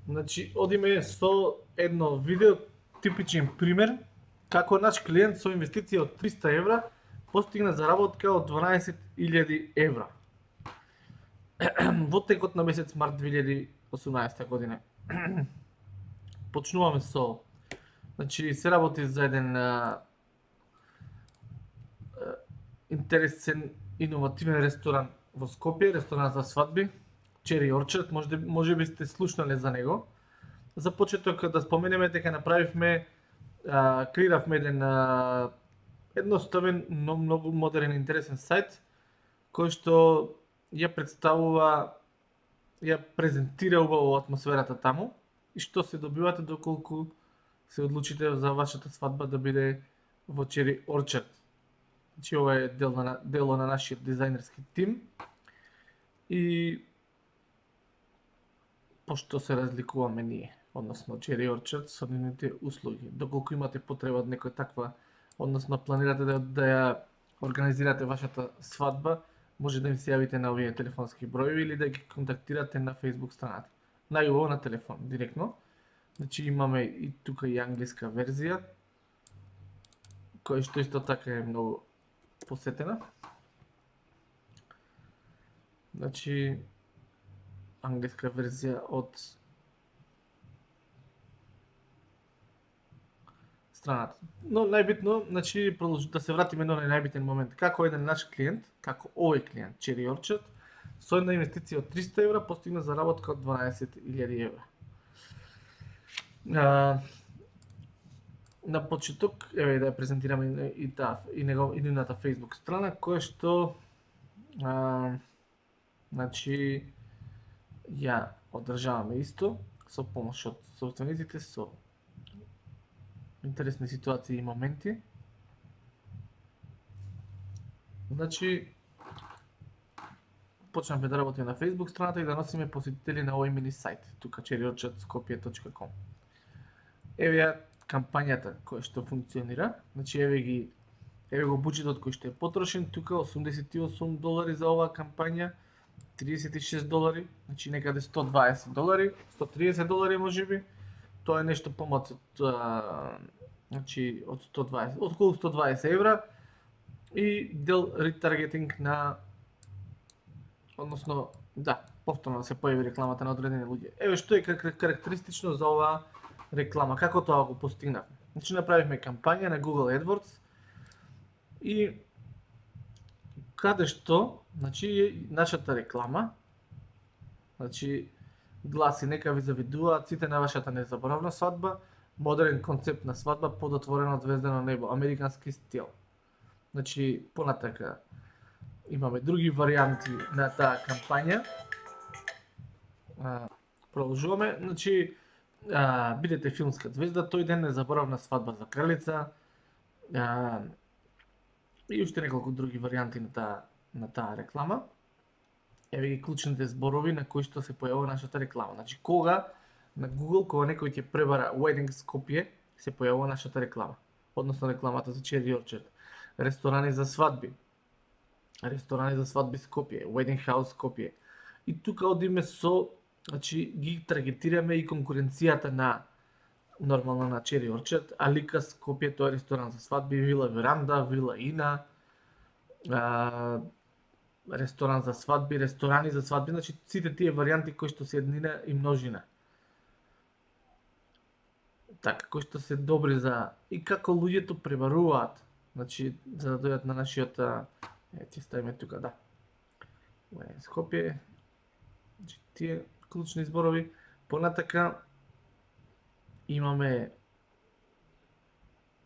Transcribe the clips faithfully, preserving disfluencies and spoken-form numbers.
Значи, одиме со едно видео, типичен пример, како наш клиент со инвестиција од триста евра постигна заработка од дванаесет илјади евра во текот на месец март две илјади и осумнаесета година. Почнуваме со, значи, се работи за еден а, а, интересен, иновативен ресторан во Скопје, ресторан за свадби, Cherry Orchard, може, може би сте слушнале за него. За почеток да споменеме дека направивме, а, креиравме еден а, едноставен, но многу модерен и интересен сајт, кој што ја представува, ја презентира убаво атмосферата таму и што се добивате доколку се одлучите за вашата свадба да биде во Cherry Orchard. Значи, ова е дел на, дело на нашиот дизајнерски тим и пошто се разликуваме ние, односно Cherry Orchard со нивните услуги. Доколку имате потреба од некоја таква, односно планирате да, да ја организирате вашата свадба, може да им се јавите на овие телефонски броеви или да ги контактирате на Facebook страната. Најубаво на телефон, директно. Значи имаме и тука и англиска верзија, која што исто така е многу посетена. Значи, англиска верзија од страната. Но најбитно, значи, да се вратиме на најбитен момент. Како еден наш клиент, како овој клиент, Cherry Orchard, со една инвестиција од триста евра постигна заработка од дванаесет илјади евра. А, на почеток, еве да ја презентираме и таа и него и нивната Facebook страна, која што а, значи ја одржаваме исто со помош од собствениците, со интересни ситуации и моменти. Значи, почнавме да работиме на Facebook страната и да носиме посетители на овој мини сајт, тука cherry orchard skopje точка com. Еве ја кампањата која што функционира, значи еве ги еве го буџетот кој што е потрошен, тука осумдесет и осум долари за оваа кампања, триесет и шест долари, значи некаде сто дваесет долари, сто триесет долари можеби. Тоа е нешто помалку од значи од сто дваесет, околу сто дваесет евра и дел ретаргетинг на, односно, да, повторно да се појави рекламата на одредени луѓе. Еве што е карактеристично за оваа реклама, како тоа го постигнавме. Значи направивме кампања на Google AdWords и каде што, значи нашата реклама, значи гласи нека ви завидуваат сите на вашата незаборавна свадба, модерен концепт на свадба под отворено звездено небо, американски стил. Значи понатака имаме други варијанти на таа кампања. А, продолжуваме, значи а, бидете филмска звезда, тој ден незаборавна свадба за кралица. А, и уште неколку други варијанти на таа на таа реклама. Еве ги клучните зборови на кои што се појавува нашата реклама. Значи кога на Google, кога некој ќе пребара Wedding Skopje, се појавува нашата реклама. Односно рекламата за Cherry Orchard. Ресторани за свадби. Ресторани за свадби Скопје, Wedding House Skopje. И тука одиме со, значи ги таргетираме и конкуренцијата на нормално на Cherry Orchard, Алика Скопје, тоа е ресторан за свадби, Вила Веранда, Вила Ина, а, ресторан за свадби, ресторани за свадби, значи сите тие варијанти кои што се еднина и множина. Така, кои што се добри за и како луѓето пребаруваат, значи за да дојдат на нашиот, е, ќе ставиме тука, да. Скопје, значи тие клучни зборови. Понатака имаме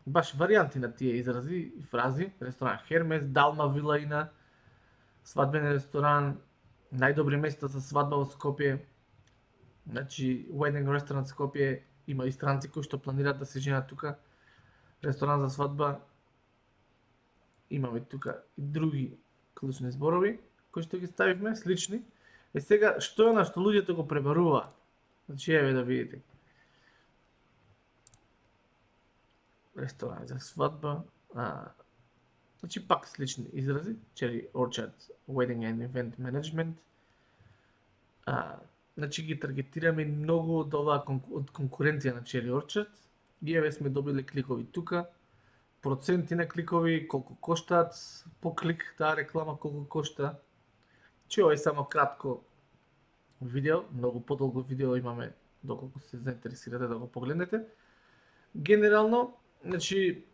баш варијанти на тие изрази и фрази. Ресторан Хермес, Далма Вила Ина, свадбен ресторан, најдобри места за свадба во Скопје. Значи Wedding Restaurant Скопје, има и странци кои што планираат да се женат тука. Ресторан за свадба. Имаме тука и други клучни зборови кои што ги ставивме, слични. Е сега, што е на што луѓето го пребаруваат? Значи еве да видите. Ресторан за свадба, а, значи пак слични изрази, Cherry Orchard Wedding and Event Management, а, значи ги таргетираме многу од оваа од конкуренција на Cherry Orchard. И еве сме добили кликови тука, проценти на кликови, колку коштаат по клик таа реклама, колку кошта. Че ова е само кратко видео, многу подолго видео имаме доколку се заинтересирате да го погледнете. Генерално, значи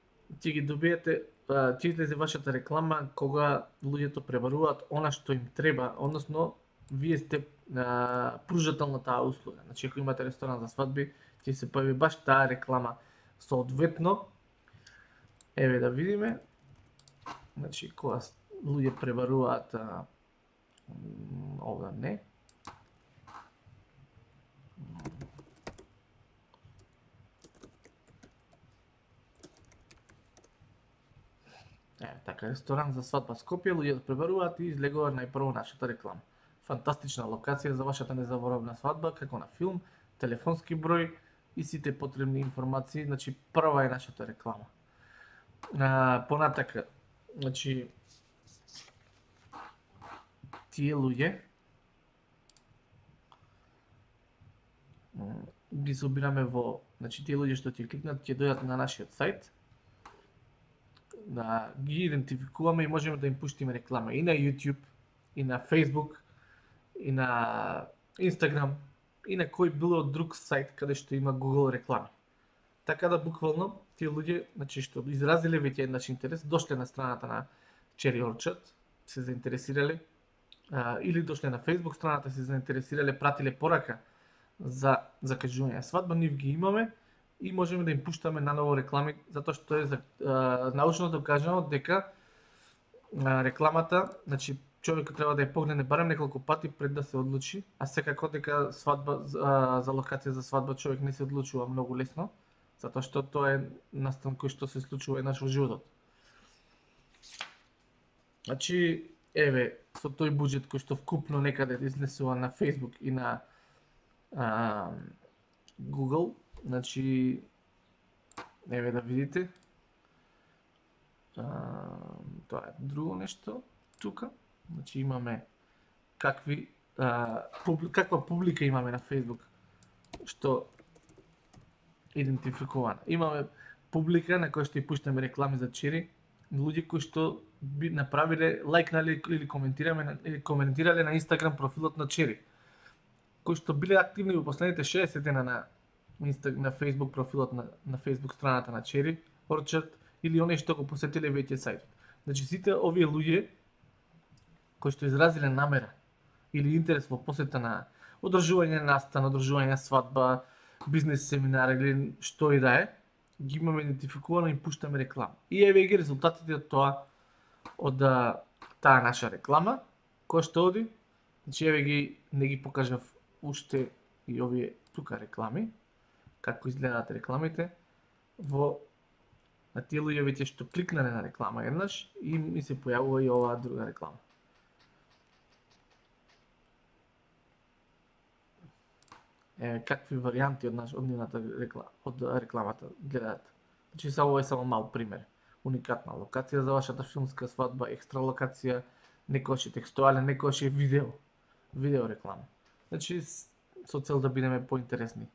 ќе ги добиете, ќе излезе вашата реклама кога луѓето пребаруваат она што им треба, односно вие сте а, пружател на таа услуга. Значи ако имате ресторан за свадби, ќе се појави баш таа реклама. Соодветно, еве да видиме, значи кога луѓе пребаруваат а, овда не. Е, така, ресторан за свадба Скопје, луѓето пребаруваат и излегува најпрво нашата реклама. Фантастична локација за вашата незаборавна свадба, како на филм, телефонски број и сите потребни информации, значи прва е нашата реклама. А, понатака, значи тие луѓе ги собираме во, значи тие луѓе што ќе кликнат ќе дојдат на нашиот сајт, да ги идентификуваме и можеме да им пуштиме реклама и на YouTube, и на Facebook, и на Instagram, и на кој било друг сајт каде што има Google реклами. Така да буквално тие луѓе, значи што изразиле веќе еднаш интерес, дошле на страната на Cherry Orchard, се заинтересирале, а, или дошле на Facebook страната, се заинтересирале, пратиле порака за закажување свадба, нив ги имаме и можеме да им пуштаме наново реклами, затоа што е за, а, научно докажано дека а, рекламата, значи човекот треба да ја погледне барем неколку пати пред да се одлучи, а секако дека свадба а, за локација за свадба човек не се одлучува многу лесно, затоа што тоа е настан кој што се случува еднаш во животот. Значи, еве, со тој буџет кој што вкупно некаде изнесува на Facebook и на а, Google, значи, еве да видите, а, тоа е друго нешто тука, значи имаме какви, а, публи, каква публика имаме на Facebook, што идентификувана. Имаме публика на која што и пуштаме реклами за Cherry, луѓе кои што би направиле, лајкнале или коментираме или коментирале на Instagram профилот на Cherry, кои што биле активни во последните шеесет дена на на Facebook профилот на на Facebook страната на Cherry Orchard или оние што го посетиле веќе сајтот. Значи сите овие луѓе кои што изразиле намера или интерес во посета на одржување на настан, одржување на свадба, бизнес семинар или што и да е, ги имаме идентификувано и пуштаме реклама. И еве ги резултатите од тоа, од таа наша реклама, која што оди. Значи еве ги, не ги покажав уште и овие тука реклами, како изгледаат рекламите, во на тие луѓе веќе што кликнале на реклама еднаш и ми се појавува и оваа друга реклама. Е, какви варијанти од наш од нивната реклама, од рекламата гледаат. Значи само ова е само мал пример. Уникатна локација за вашата филмска свадба, екстра локација, некојаш е текстуален, некојаш е видео, видео реклама. Значи со цел да бидеме поинтересни.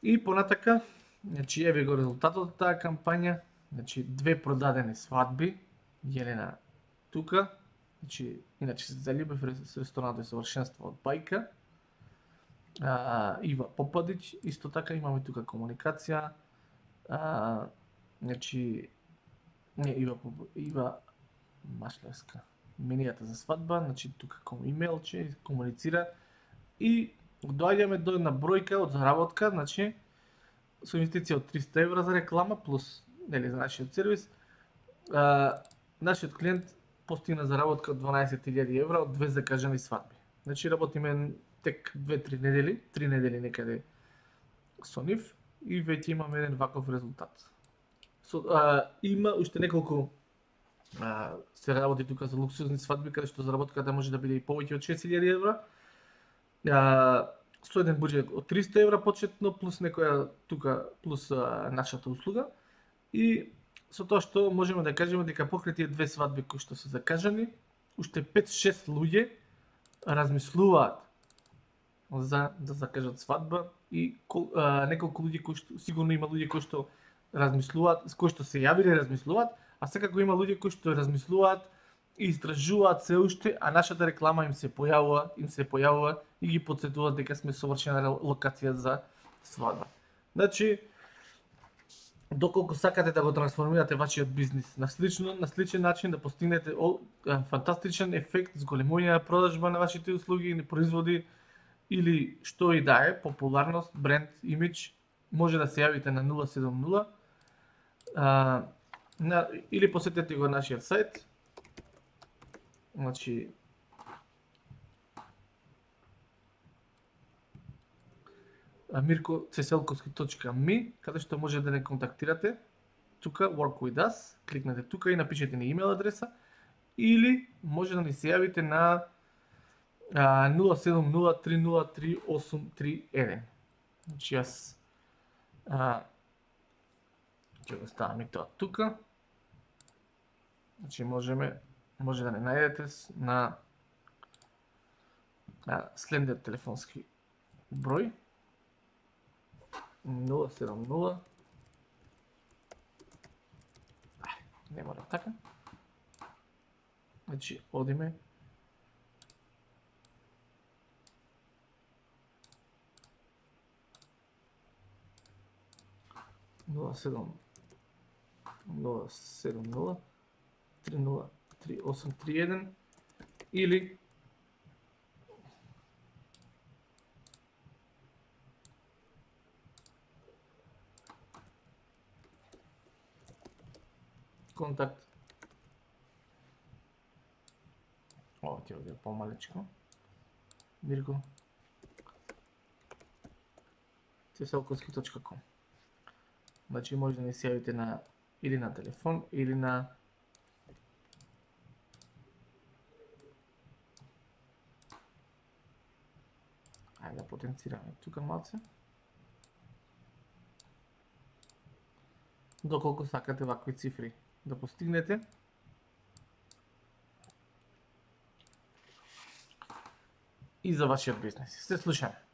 И понатака, значи еве го резултатот од таа кампања, значи две продадени свадби, Јелена тука, значи иначе се заљубив со ресторанот и совршенство од Бајка. А, Ива Попадич, исто така имаме тука комуникација, а, значи, не, Ива, Ива Машлевска, менијата за свадба, значи тука ком имејлче, комуницира и доаѓаме до една бројка од заработка, значи, со инвестиција од триста евра за реклама, плюс, нели, за нашиот сервис, а, нашиот клиент постигна заработка од дванаесет илјади евра од две закажани свадби. Значи, работиме тек две-три недели, три недели некаде со нив и веќе имаме еден ваков резултат. Со, а, има уште неколку а, се работи тука за луксузни свадби, каде што заработката може да биде и повеќе од шест илјади евра. А, со еден буџет од триста евра почетно, плюс некоја тука, плюс а, нашата услуга. И со тоа што можеме да кажеме дека покрај тие две свадби кои што се закажани, уште пет-шест луѓе размислуваат за да закажат свадба и кол, а, неколку луѓе кои што сигурно има луѓе кои што размислуваат, кои што се јавиле размислуваат, а секако има луѓе кои што размислуваат и истражуваат се уште, а нашата реклама им се појавува, им се појавува и ги потсетуваат дека сме совршена локација за свадба. Значи, доколку сакате да го трансформирате вашиот бизнис на слично, на сличен начин, да постигнете о, фантастичен ефект, зголемување на продажба на вашите услуги или производи, или што и да е, популарност, бренд, имидж, може да се јавите на нула седум нула а, на, или посетете го нашиот сајт. Значи, мирко цеселковски точка ми, каде што може да не контактирате. Тука Work with us, кликнете тука и напишете ни имейл адреса, или може да ни се јавите на нула седум нула три нула три осум три еден. Значи јас а, ќе го ставам и тоа тука. Значи можеме може да не најдете на, на следниот телефонски број нула седум нула. Не мора така. Значи одиме нула седум нула три нула три осум три еден или контакт. Ова ќе биде помалечко. Мирко цеселковски точка ком. Значи може да ни се јавите на или на телефон или на Ајде да потенцираме тука малце. Доколку сакате вакви цифри да постигнете. И за вашиот бизнес. Се слушаме.